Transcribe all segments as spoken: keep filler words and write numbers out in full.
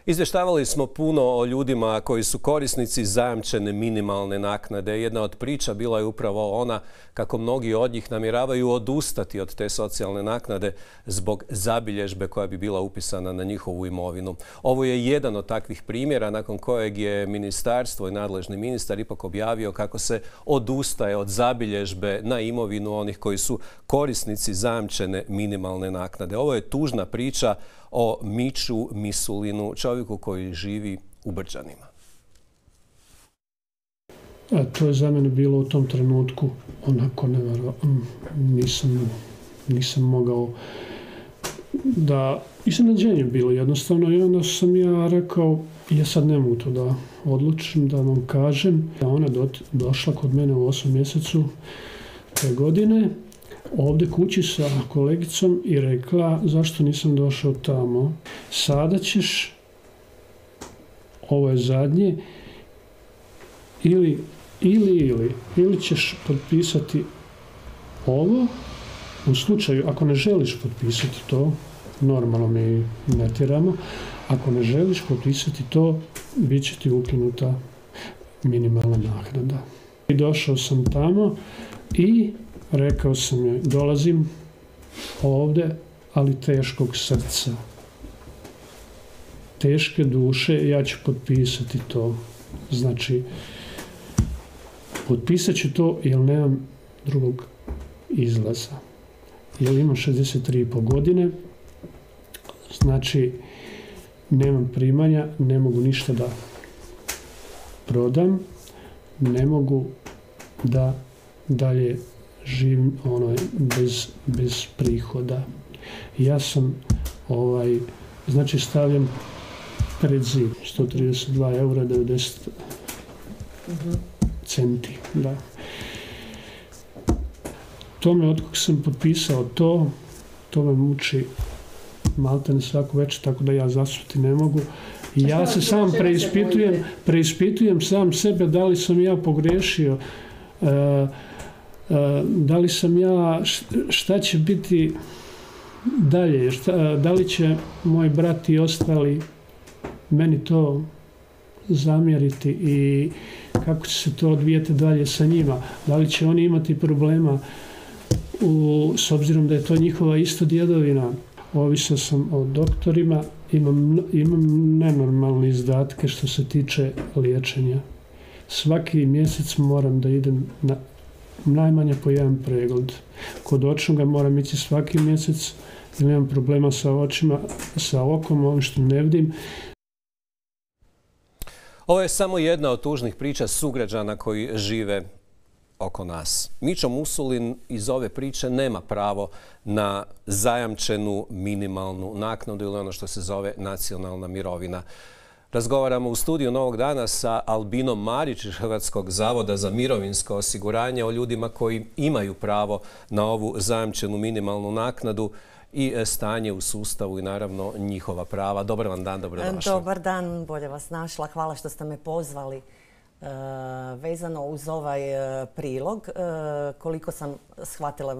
Izvještavali smo puno o ljudima koji su korisnici zajamčene minimalne naknade. Jedna od priča bila je upravo ona kako mnogi od njih namjeravaju odustati od te socijalne naknade zbog zabilježbe koja bi bila upisana na njihovu imovinu. Ovo je jedan od takvih primjera nakon kojeg je ministarstvo i nadležni ministar ipak objavio kako se odustaje od zabilježbe na imovinu onih koji su korisnici zajamčene minimalne naknade. Ovo je tužna priča o Miću Misulinu, čovjeku koji živi u Brđanima. A to je za mene bilo u tom trenutku onako nevjerojatno. Nisam, nisam mogao da... Iznenađenje bilo jednostavno i onda sam ja rekao, ja sad ne mogu to da odlučim, da vam kažem. Ona je došla kod mene u osmom mjesecu te godine, ovdje kući sa kolegicom i rekla zašto nisam došao tamo. Sada ćeš, ovo je zadnje, ili, ili, ili, ili ćeš potpisati ovo, u slučaju ako ne želiš potpisati to, normalno mi ne tjeramo, ako ne želiš potpisati to, bit će ti ukinuta minimalna naknada. I došao sam tamo i rekao sam joj, dolazim ovdje, ali teškog srca, teške duše, ja ću potpisati to. Znači, potpisat ću to jer nemam drugog izlaza. Jer imam šezdeset tri i pol godine, znači nemam primanja, ne mogu ništa da prodam, ne mogu da dalje živim ono, bez, bez prihoda. Ja sam ovaj, znači stavljam pred zid sto trideset dva eura devedeset centi. Da. To me, od kog sam potpisao to, to me muči maltene svaku večer, tako da ja zasuti ne mogu. I ja se sam preispitujem, preispitujem sam sebe da li sam ja pogriješio, uh, Uh, da li sam ja, šta će biti dalje, šta, da li će moj brat i ostali meni to zamjeriti i kako će se to odvijeti dalje sa njima, da li će oni imati problema u, s obzirom da je to njihova isto djedovina. Ovisio sam o doktorima, imam, imam nenormalne izdatke što se tiče liječenja. Svaki mjesec moram da idem na najmanje po jedan pregled. Kod očnoga moram ići svaki mjesec jer nemam problema sa očima, sa okom, ovim što ne vidim. Ovo je samo jedna od tužnih priča sugrađana koji žive oko nas. Mićo Misulin iz ove priče nema pravo na zajamčenu minimalnu naknadu ili ono što se zove nacionalna mirovina. Razgovaramo u studiju Novog dana sa Albinom Marić iz Hrvatskog zavoda za mirovinsko osiguranje o ljudima koji imaju pravo na ovu zajamčenu minimalnu naknadu i stanje u sustavu i naravno njihova prava. Dobar vam dan, dobrodošli. Dobar dan, bolje vas našla. Hvala što ste me pozvali. E, vezano uz ovaj e, prilog, e, koliko sam shvatila,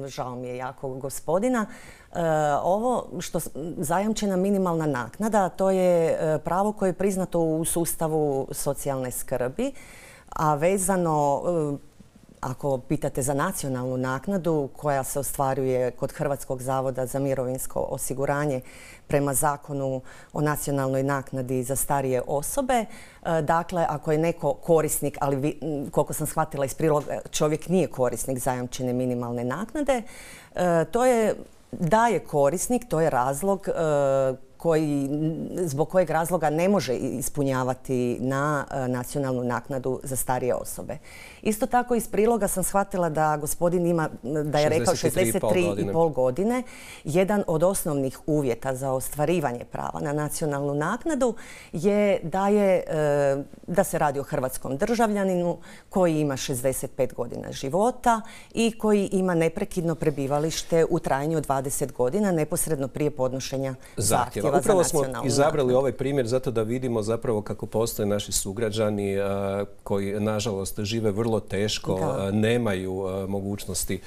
žao mi je jako gospodina, e, ovo što zajamčena minimalna naknada, to je e, pravo koje je priznato u sustavu socijalne skrbi, a vezano, e, ako pitate za nacionalnu naknadu koja se ostvaruje kod Hrvatskog zavoda za mirovinsko osiguranje prema zakonu o nacionalnoj naknadi za starije osobe. Dakle, ako je neko korisnik, ali vi, koliko sam shvatila iz priloga, čovjek nije korisnik zajamčene minimalne naknade, to je da je korisnik, to je razlog koji, zbog kojeg razloga ne može ispunjavati na nacionalnu naknadu za starije osobe. Isto tako iz priloga sam shvatila da gospodin ima, da je rekao šezdeset tri i pol godine. Jedan od osnovnih uvjeta za ostvarivanje prava na nacionalnu naknadu je da, je, da se radi o hrvatskom državljaninu koji ima šezdeset pet godina života i koji ima neprekidno prebivalište u trajanju od dvadeset godina neposredno prije podnošenja zahtjeva. Upravo smo izabrali ovaj primjer zato da vidimo zapravo kako postoje naši sugrađani koji nažalost žive vrlo teško, da. nemaju mogućnosti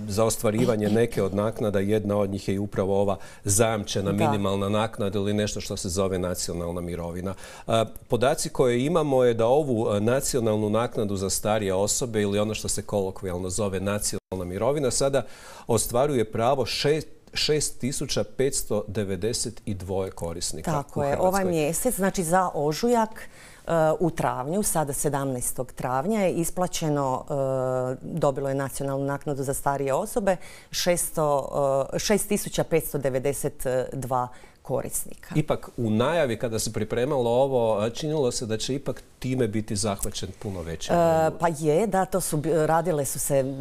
za ostvarivanje neke od naknada. Jedna od njih je i upravo ova zajamčena minimalna naknada ili nešto što se zove nacionalna mirovina. Podaci koje imamo je da ovu nacionalnu naknadu za starije osobe ili ono što se kolokvijalno zove nacionalna mirovina sada ostvaruje pravo šest tisuća petsto devedeset dva korisnika. Tako je, ovaj mjesec, znači za ožujak, u travnju, sada sedamnaestog travnja je isplaćeno, dobilo je nacionalnu naknadu za starije osobe šest tisuća petsto devedeset dva korisnika. Ipak u najavi kada se pripremalo ovo, činilo se da će ipak time biti zahvaćen puno veći. E, pa je, da, to su radile su se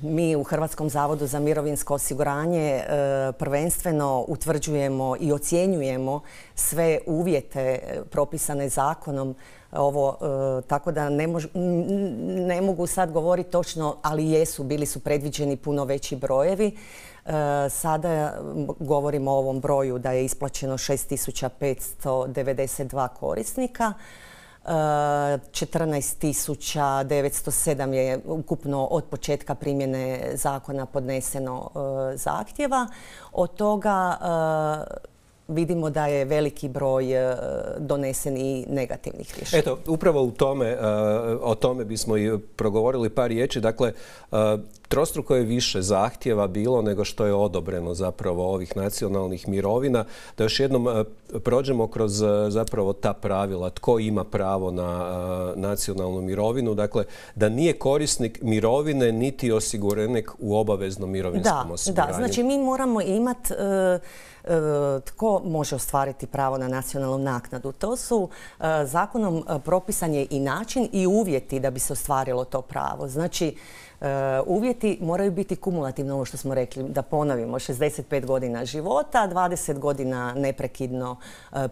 mi u Hrvatskom zavodu za mirovinsko osiguranje e, prvenstveno utvrđujemo i ocjenjujemo sve uvjete propisane zakonom. Ovo, e, tako da ne, mož, ne mogu sad govoriti točno, ali jesu, bili su predviđeni puno veći brojevi. E, sada govorimo o ovom broju da je isplaćeno šest tisuća petsto devedeset dva korisnika. četrnaest tisuća devetsto sedam je ukupno od početka primjene zakona podneseno e, zahtjeva. Od toga e, vidimo da je veliki broj donesen i negativnih rješenja. Eto, upravo u tome, o tome bismo i progovorili par riječi. Dakle, trostruko je više zahtjeva bilo nego što je odobreno zapravo ovih nacionalnih mirovina. Da još jednom prođemo kroz zapravo ta pravila. Tko ima pravo na nacionalnu mirovinu? Dakle, da nije korisnik mirovine niti osiguranik u obaveznom mirovinskom osiguranju. Da, znači mi moramo imati tko može ostvariti pravo na nacionalnu naknadu. To su zakonom propisan je i način i uvjeti da bi se ostvarilo to pravo. Znači, uvjeti moraju biti kumulativno, ovo što smo rekli, da ponovimo, šezdeset pet godina života, dvadeset godina neprekidno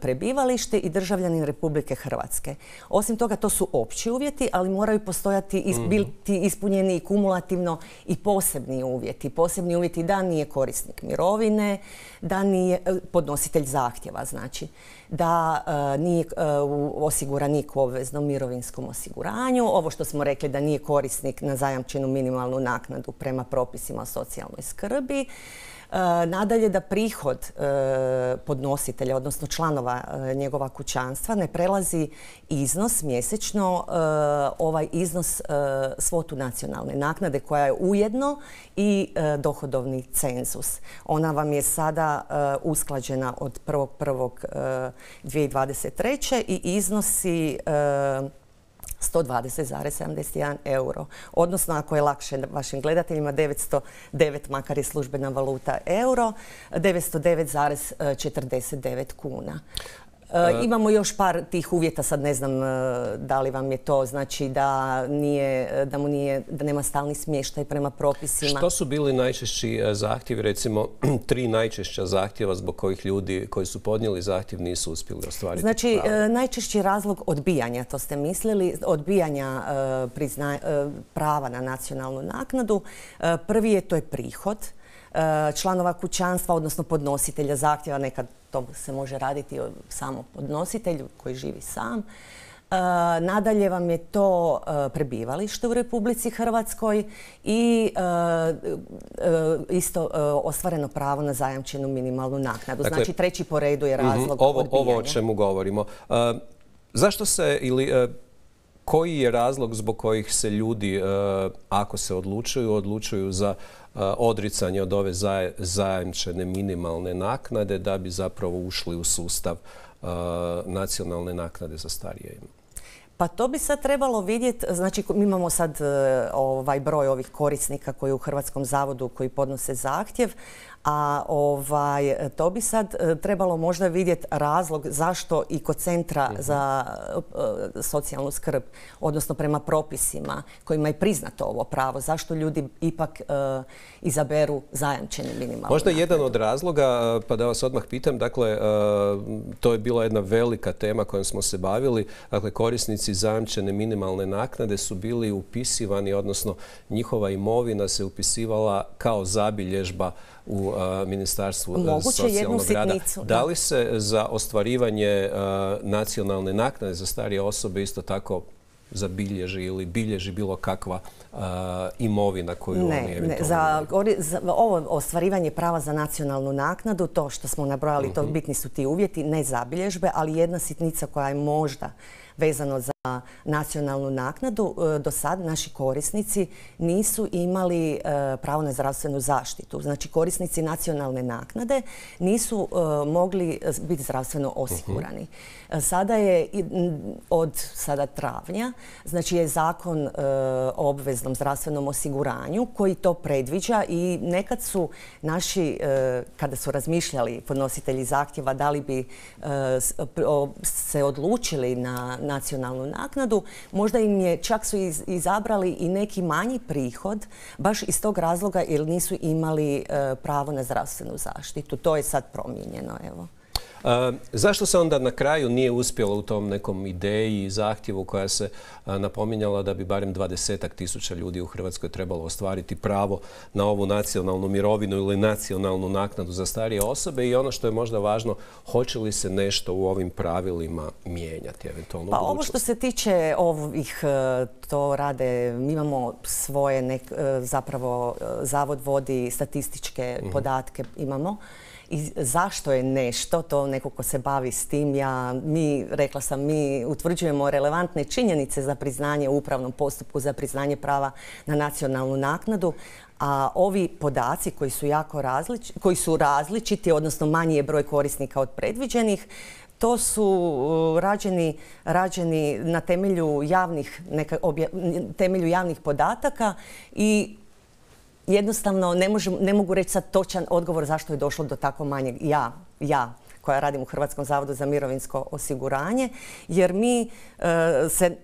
prebivalište i državljanin Republike Hrvatske. Osim toga, to su opći uvjeti, ali moraju postojati, biti ispunjeni i kumulativno i posebni uvjeti. Posebni uvjeti da nije korisnik mirovine, da nije podnositelj zahtjeva, znači da nije osiguranik u obveznom mirovinskom osiguranju, ovo što smo rekli da nije korisnik na zajamčenu minimalnu naknadu prema propisima o socijalnoj skrbi. Nadalje, da prihod podnositelja, odnosno članova njegova kućanstva, ne prelazi iznos mjesečno, ovaj iznos svotu nacionalne naknade koja je ujedno i dohodovni cenzus. Ona vam je sada usklađena od prvog prvog dvije tisuće dvadeset treće i iznosi sto dvadeset zarez sedamdeset jedan euro. Odnosno, ako je lakše vašim gledateljima, devetsto devet, makar je službena valuta euro, devetsto devet zarez četrdeset devet kuna. E, imamo još par tih uvjeta, sad ne znam da li vam je to, znači da, nije, da, mu nije, da nema stalni smještaj prema propisima. Što su bili najčešći zahtjevi, recimo tri najčešća zahtjeva zbog kojih ljudi koji su podnijeli zahtjev nisu uspjeli ostvariti znači, pravo? Znači, najčešći razlog odbijanja, to ste mislili, odbijanja e, prizna, e, prava na nacionalnu naknadu. E, prvi je, to je prihod članova kućanstva, odnosno podnositelja zahtjeva. Nekad to se može raditi o samo podnositelju koji živi sam. Nadalje vam je to prebivalište u Republici Hrvatskoj i isto ostvareno pravo na zajamčenu minimalnu naknadu. Dakle, znači, treći po redu je razlog ovo, odbijanja. Ovo o čemu govorimo. Zašto se ili koji je razlog zbog kojih se ljudi, ako se odlučuju, odlučuju za odricanje od ove zajamčene minimalne naknade da bi zapravo ušli u sustav nacionalne naknade za starije? Pa to bi sad trebalo vidjeti, znači mi imamo sad ovaj broj ovih korisnika koji u Hrvatskom zavodu koji podnose zahtjev, a ovaj, to bi sad trebalo možda vidjeti razlog zašto i kod Centra uh-huh. za uh, socijalnu skrb, odnosno prema propisima kojima je priznato ovo pravo, zašto ljudi ipak uh, izaberu zajamčenu minimalnu Možda naknadu. Jedan od razloga, pa da vas odmah pitam, dakle, uh, to je bila jedna velika tema kojom smo se bavili, dakle, korisnici zajamčene minimalne naknade su bili upisivani, odnosno njihova imovina se upisivala kao zabilježba u uh, Ministarstvu Moguće socijalnog rada. Sitnicu, da li se za ostvarivanje uh, nacionalne naknade za starije osobe isto tako zabilježi ili bilježi bilo kakva uh, imovina koju ne, oni eventualno... Ne, za, za ovo ostvarivanje prava za nacionalnu naknadu, to što smo nabrojali, uh-huh. to bitni su ti uvjeti, ne zabilježbe, ali jedna sitnica koja je možda vezano za nacionalnu naknadu, do sad naši korisnici nisu imali pravo na zdravstvenu zaštitu. Znači, korisnici nacionalne naknade nisu mogli biti zdravstveno osigurani. Sada je od sada travnja, znači je zakon o obveznom zdravstvenom osiguranju koji to predviđa i nekad su naši, kada su razmišljali podnositelji zahtjeva da li bi se odlučili na nacionalnu naknadu, možda im je, čak su izabrali i neki manji prihod baš iz tog razloga jer nisu imali pravo na zdravstvenu zaštitu. To je sad promijenjeno, evo. E, zašto se onda na kraju nije uspjelo u tom nekom ideji i zahtjevu koja se a, napominjala da bi barem dvadesetak tisuća ljudi u Hrvatskoj trebalo ostvariti pravo na ovu nacionalnu mirovinu ili nacionalnu naknadu za starije osobe i ono što je možda važno, hoće li se nešto u ovim pravilima mijenjati eventualno pa u budućnosti? Ovo što se tiče ovih, to rade, mi imamo svoje, nek, zapravo Zavod vodi statističke mm-hmm. podatke, imamo. I zašto je nešto, to neko ko se bavi s tim, ja, mi, rekla sam, mi utvrđujemo relevantne činjenice za priznanje u upravnom postupku, za priznanje prava na nacionalnu naknadu, a ovi podaci koji su jako različiti, koji su različiti, odnosno manji je broj korisnika od predviđenih, to su rađeni, rađeni na temelju javnih, neka, obja, temelju javnih podataka i jednostavno ne, možem, ne mogu reći sad točan odgovor zašto je došlo do tako manjeg. Ja, ja koja radim u Hrvatskom zavodu za mirovinsko osiguranje, jer mi e, se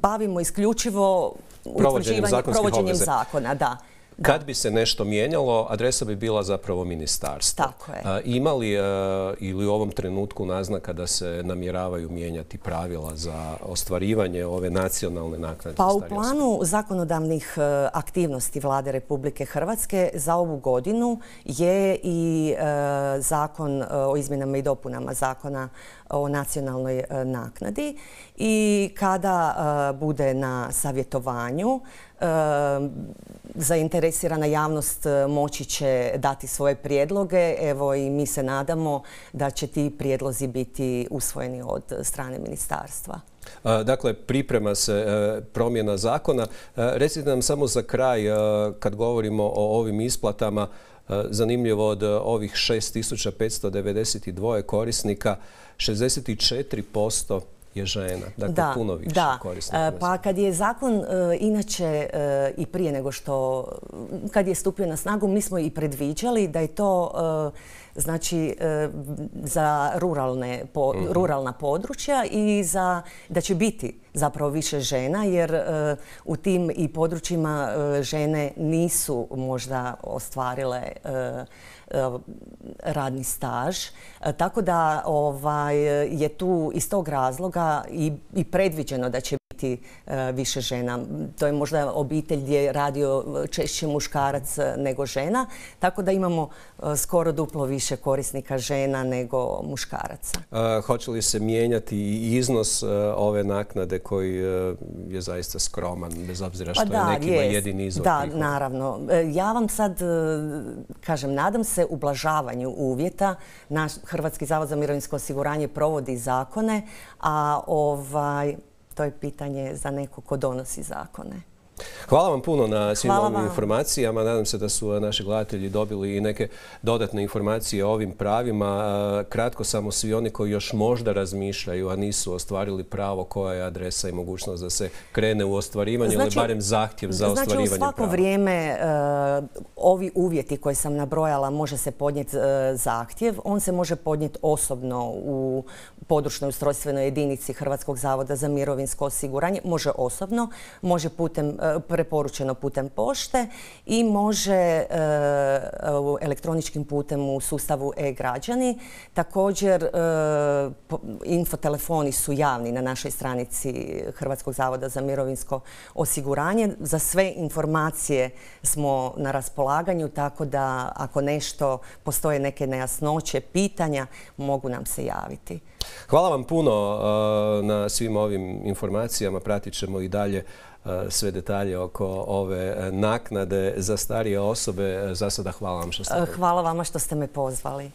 bavimo isključivo provođenjem, provođenjem zakona. Da. Kad bi se nešto mijenjalo, adresa bi bila zapravo ministarstvo. Tako je. A, ima li a, ili u ovom trenutku naznaka da se namjeravaju mijenjati pravila za ostvarivanje ove nacionalne naknade? Pa u planu zakonodavnih aktivnosti Vlade Republike Hrvatske za ovu godinu je i e, zakon o izmjenama i dopunama zakona o nacionalnoj e, naknadi i kada e, bude na savjetovanju, e, zainteresirana javnost moći će dati svoje prijedloge. Evo i mi se nadamo da će ti prijedlozi biti usvojeni od strane ministarstva. Dakle, priprema se promjena zakona. Recite nam samo za kraj, kad govorimo o ovim isplatama, zanimljivo od ovih šest tisuća petsto devedeset dva korisnika, šezdeset četiri posto je žena, dakle da, puno više da. korisnika. Pa kad je zakon uh, inače uh, i prije nego što, kad je stupio na snagu, mi smo i predviđali da je to uh, znači uh, za ruralne, po, mm-hmm. ruralna područja i za, da će biti zapravo više žena, jer uh, u tim i područjima uh, žene nisu možda ostvarile uh, radni staž. Tako da ovaj, je tu iz tog razloga i, i predviđeno da će biti više žena. To je možda obitelj gdje je radio češće muškarac nego žena, tako da imamo skoro duplo više korisnika žena nego muškaraca. A, hoće li se mijenjati i iznos ove naknade koji je zaista skroman, bez obzira što pa da, je nekima je jedini izvor Da, prihoda? Naravno. Ja vam sad kažem, nadam se ublažavanju uvjeta. Naš Hrvatski zavod za mirovinsko osiguranje provodi zakone, a ovaj, to je pitanje za neko ko donosi zakone. Hvala vam puno na svim Hvala ovim vam. informacijama. Nadam se da su naši gledatelji dobili i neke dodatne informacije o ovim pravima. Kratko samo, svi oni koji još možda razmišljaju, a nisu ostvarili pravo, koja je adresa i mogućnost da se krene u ostvarivanje znači, ili barem zahtjev za znači, ostvarivanje prava? Znači u svako prava. vrijeme uh, ovi uvjeti koje sam nabrojala može se podnijeti uh, zahtjev. On se može podnijeti osobno u područnoj ustrojstvenoj jedinici Hrvatskog zavoda za mirovinsko osiguranje. Može osobno, može putem uh, preporučeno putem pošte i može elektroničkim putem u sustavu e-građani. Također, infotelefoni su javni na našoj stranici Hrvatskog zavoda za mirovinsko osiguranje. Za sve informacije smo na raspolaganju, tako da ako nešto, postoje neke nejasnoće, pitanja, mogu nam se javiti. Hvala vam puno na svim ovim informacijama. Pratit ćemo i dalje sve detalje oko ove naknade za starije osobe. Za sada hvala vam što ste... Hvala vama što ste me pozvali.